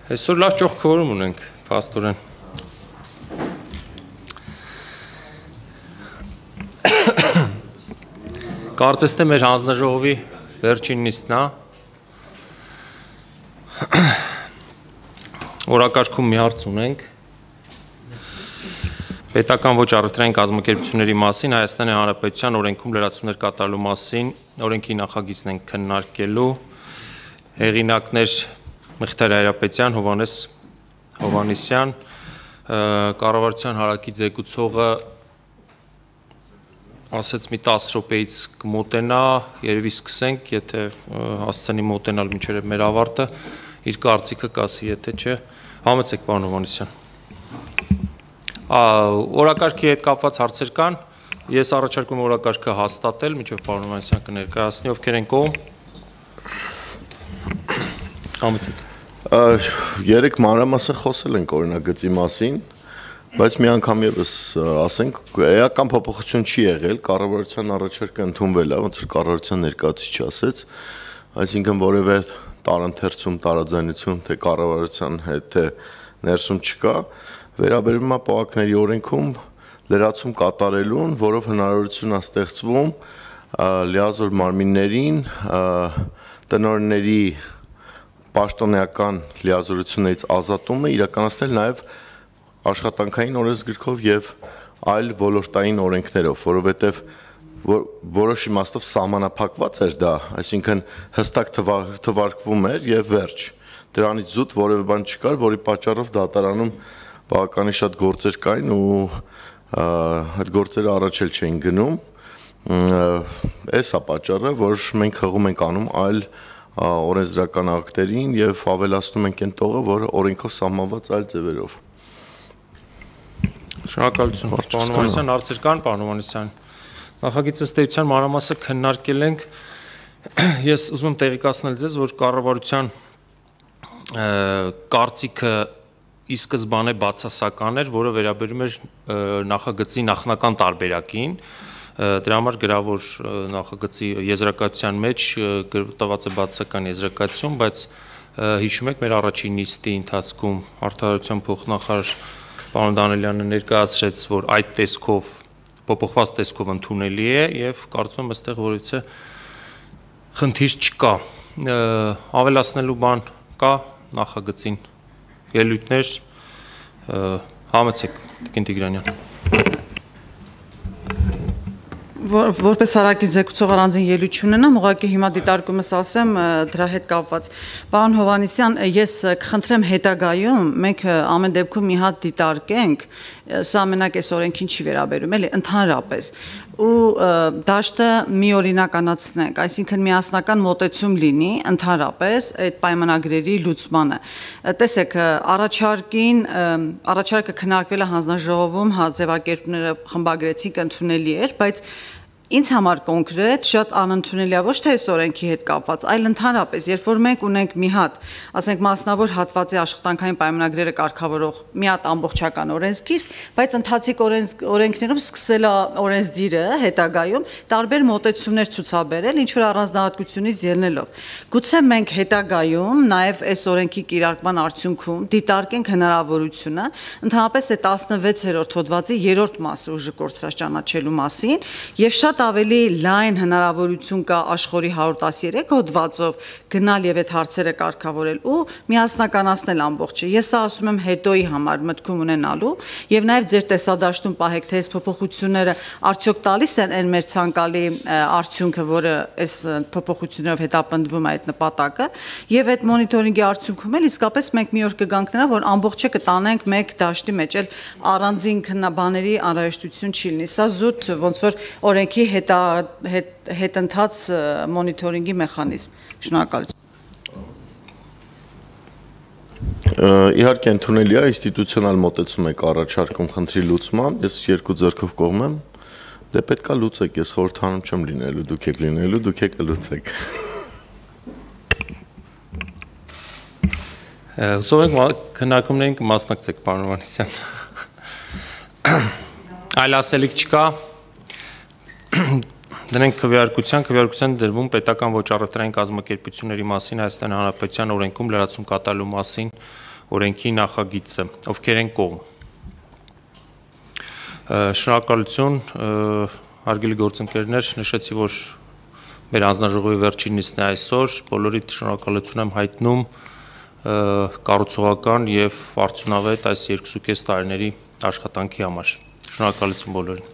Այսօր լավ ճոխ քվորում ունենք, փաստորեն։ Կարծես թե մեր հանձնաժողովի վերջին նիստն է։ Օրակարգում մի հարց ունենք։ Պետական ոչ առևտրային կազմակերպությունների մասին Հայաստանի Հանրապետության օրենքում լրացումներ կատարելու մասին օրենքի նախագիծն ենք քննարկելու։ Հեղինակներ Մղթար Հայրապետյան, Հովհաննես Հովհաննիսյան, կառավարության հարակի ձեկուցողը ասեց մի 10 րոպեից կմոտենա, երևի սկսենք, եթե հասցնի մոտենալ մինչև մեր ավարտը, իր կարծիքը կասի, եթե չէ, համեցեք պարոն Հովհաննիսյան։ Օրակարգի հետ կապված հարցեր կան, ես առաջարկում եմ օրակարգը հաստատել, մինչև պարոն Հովհաննիսյան կներկայացնի, ովքեր են կողմ։ Համեցեք։ Երեք մանրամասն խոսել ենք օրինագծի մասին, բայց մի անգամ եւս ասենք, էական փոփոխություն չի եղել, կառավարության առաջարկը ընդունվել է, ոնց որ կառավարության ներկայացուցիչը ասեց, այսինքն որևէ տարընթերցում, տարաձայնություն թե կառավարության հետ թե ներսում չկա, վերաբերում է պողակների օրենքում լրացում կատարելուն, որով հնարավորություն է ստեղծվում լիազոր մարմիններին տնօրենների պաշտոնեական լիազորություններից ազատումը իրականացնել նաև աշխատանքային օրենսգրքով եւ այլ ոլորտային օրենքներով, որովհետեւ որոշ իմաստով սահմանափակված էր դա, այսինքն հստակ թվարկվում էր եւ վերջ։ Դրանից զուտ որևէ բան չկար, որի պատճառով դատարանում բավականին շատ գործեր կային ու այդ գործերը առաջ էլ չէին գնում։ Էս է պատճառը, որ մենք հղում ենք անում այլ օրենսդրական ակտերին եւ ավելացնում ենք այն տողը, որը օրենքով սահմանված այլ ձևերով։ Շնորհակալություն, պարոն Հովհաննիսյան, հարցեր կան, պարոն Հովհաննիսյան։ Նախագիծը ստեյության մանրամասը քննարկել ենք։ Ես ուզում եմ տեղեկացնել ձեզ, որ կառավարության կարծիքը ի սկզբանե բացասական էր, որը վերաբերում էր նախագծի նախնական տարբերակին։ Դրա համար գրավոր նախագծի եզրակացության մեջ տված է բացասական եզրակացություն, բայց հիշում եք մեր առաջին նիստի ընթացքում Արդարության փոխնախարար պարոն Դանիելյանը ներկայացրեց, որ այդ տեսքով փոփոխված տեսքով ընդունելի է եւ կարծում եմ այստեղ որևիցե խնդիր չկա։ Ավելացնելու բան կա նախագծին ելույթներ համեցեք Տիկին Տիգրանյան։ Որպես հարակի ձեկուցող առանձին ելույթ չունենամ, ուղղակի հիմա դիտարկումս ասեմ դրա հետ կապված։ Պարոն Հովհաննիսյան, ես կխնդրեմ հետագայում մենք ամեն դեպքում մի հատ դիտարկենք, սա մենակ այս օրենքին չի վերաբերում, էլի ընդհանրապես, ու դաշտը միօրինականացնենք, այսինքն միասնական մոտեցում լինի ընդհանրապես այդ պայմանագրերի լուծմանը։ Տեսեք, առաջարկը քննարկվել է հանձնաժողովում, ձևակերպները խմբագրեցինք, ընդունելի էր, բայց ինձ համար կոնկրետ շատ անընդունելի է ոչ թե այս օրենքի հետ կապված, այլ ընդհանրապես, երբ որ մենք ունենք մի հատ, ասենք մասնավոր հատվածի աշխատանքային պայմանագրերը կարգավորող մի հատ ամբողջական օրենսգիր, բայց ընթացիկ օրենքներում սկսել է օրենսդիրը հետագայում տարբեր մոտեցումներ ցուցաբերել, ինչ որ առանձնահատկությունից ելնելով։ Գուցե մենք հետագայում նաև այս օրենքի կիրարկման արդյունքում դիտարկենք հնարավորությունը ընդհանրապես այդ 16-րդ հոդվածի 3-րդ մասը ուժը կորցրած ճանաչելու մասին եւ շատ ավելի լայն հնարավորություն կա աշխորհի 113 հոդվածով գնալ եւ այդ հարցերը կարգավորել ու միասնականացնել ամբողջը։ Ես ասում եմ հետոյի համար մտքում ունենալու եւ նաեւ ձեր տեսադաշտում պահեք թե այս փոփոխությունները արդյոք տալիս են այն մեր ցանկալի արդյունքը, որը այս փոփոխություններով հետապնդվում է այդ նպատակը եւ այդ մոնիտորինգի արդյունքում էլ իսկապես մենք մի օր կգանք նրան, որ ամբողջը կտանենք մեկ դաշտի մեջ, էլ առանձին քննաբաների անհրաժեշտություն չի լինի։ Սա զուտ ոնց որ օրենքի հետընթաց մոնիտորինգի մեխանիզմ։ Շնորհակալություն։ Իհարկե ընդունելի է, ինստիտուցիոնալ մոտեցում եք առաջարկում խնդրի լուծման, ես երկու ձեռքով կողմ եմ, դե պետք է լուծեք, ես խորհրդանում չեմ լինելու, դուք եք լինելու, դուք եք լուծեք։ Հուսով ենք քննարկումներին կմասնակցեք, պարոն Հովհաննիսյան։ Այլ ասելիք չկա։ Դրանք քվեարկության դրվում պետական ոչ առևտրային կազմակերպությունների մասին Հայաստանի Հանրապետության օրենքում լրացում կատարելու մասին օրենքի նախագիծը, ովքեր են կողմ։ Շնորհակալություն, հարգելի գործընկերներ, նշեցի, որ մեր հանձնաժողովի վերջին նիստն է այսօր, բոլորիդ շնորհակալություն եմ հայտնում կառուցողական եւ արդյունավետ այս 2.5 տարիների աշխատանքի համար։ Շնորհակալություն բոլորին։